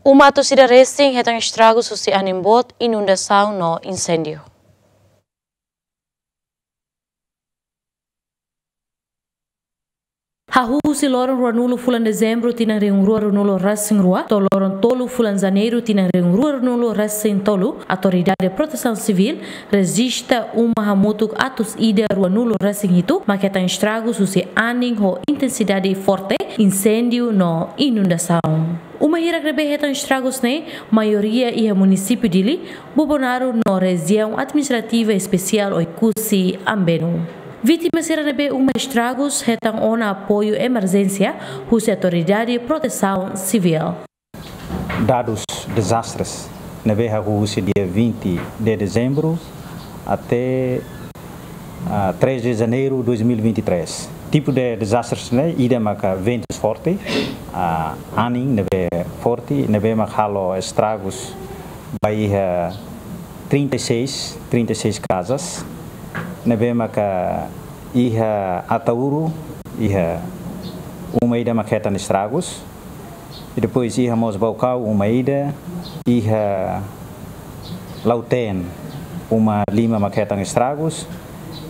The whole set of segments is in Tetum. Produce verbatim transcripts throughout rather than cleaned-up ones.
Uma atus ida resin hetan estragus husi anin boot, inundasaun no inséndiu. Hahú husi loron ruanulu fulan Dezembru tinan rihun rua ruanulu resin rua to'o loron tolu fulan Janeiru tinan rihun rua ruanulu resin tolu, Autoridade Protesaun Sivíl rejista uma hamutuk atus ida ruanulu resin hitu mak hetan estragus husi anin ho intensidade forte, inséndiu no inundasaun. Uma hirak ne'ebé hetan estragus ne'e maioria iha munisípiu Dili, Bobonaro no Rejiaun Administrativa Espesiál Oekusi Ambenu. Vítima sira ne'ebé uma estragus hetan ona apoiu emerjénsia husi Autoridade Protesaun Sivíl. Dadus dezastres ne'ebé hahú husi dia vinte de dezembro até, ah, três de janeiro dois mil e vinte e três. Tipu de dezastres ne'e, ida maka ventus forte, ah, anin ne'ebé forte, ne'ebé maka halo estragus ba iha trinta e seis, trinta e seis casas, ne'ebé maka iha Ataúro, iha uma ida maka hetan estragus, i depois iha mós Baucau uma ida, iha Lautém uma lima maka hetan estragus,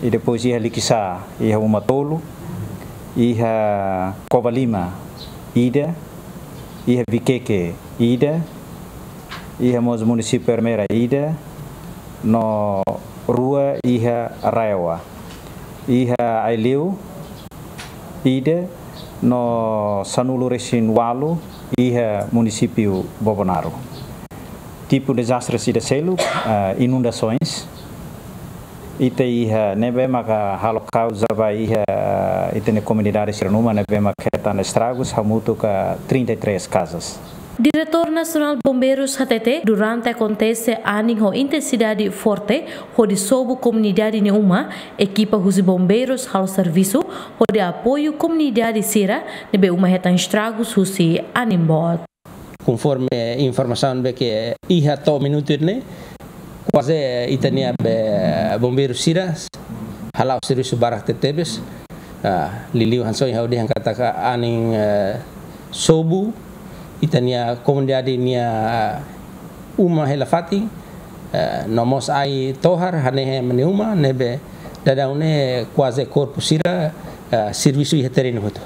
i depois iha Liquiçá iha uma tolu, iha Covalima ida, iha Viqueque ida, iha mós munisípiu Ermera ida, no rua iha RAEOA, iha Aileu ida, no sanulu resin ualu iha munisípiu Bobonaro. Tipu dezastres ida seluk, ah, inundasoens. Ita iha ne'ebé maka halo kauza ba iha ita-nia komunidade sira-nia uma ne'ebé maka hetan estragus hamutuk trinta e três casas. Diretór Nasionál Bombeirus hatete, durante akontese anin ho intensidade forte hodi sobu komunidade nia uma, ekipa husi bombeirus halo servisu hodi apoiu komunidade sira ne'ebé uma hetan estragus husi anin boot. Konforme informasaun ne'ebé ke iha to'o minutu ne'e, kuaze ita-nia be bombeiru sira hala'o servisu barak tebetebes. Ah, liuliu hanesan ohin ha'u dehan katak anin, eh, sobu ita-nia komunidade nia uma hela fatin, eh, no mós ai tohar hanehan ema nia uma, ne'ebé daudaun ne'e kuaze korpu sira, eh, servisu iha terrenu hotu.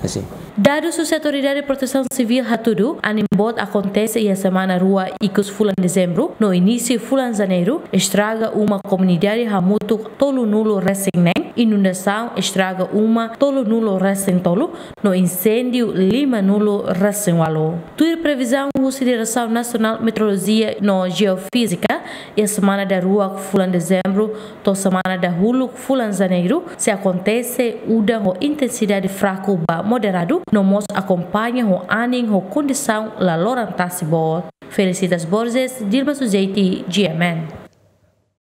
Assim. Dadus husi Autoridade Protesaun Sivíl hatudu, anin boot akontese iha semana rua ikus fulan Dezembru no inísiu fulan Janeiru, estraga uma komunidade hamutuk tolunulu resin neen, inundasaun estraga uma tolunulu resin tolu, no inséndiu limanulu resin ualu. Tuir previzaun husi Diresaun Nasionál Meteorolojia no Jeofízika, iha semana daruak fulan Dezembru to'o semana dahuluk fulan Janeiru sei akontese udan ho intensidade fraku ba moderadu, no mós akompaña ho anin ho kondisaun laloran tasi boot. Felicitas Borges, Dilma Sujeiti, G M N.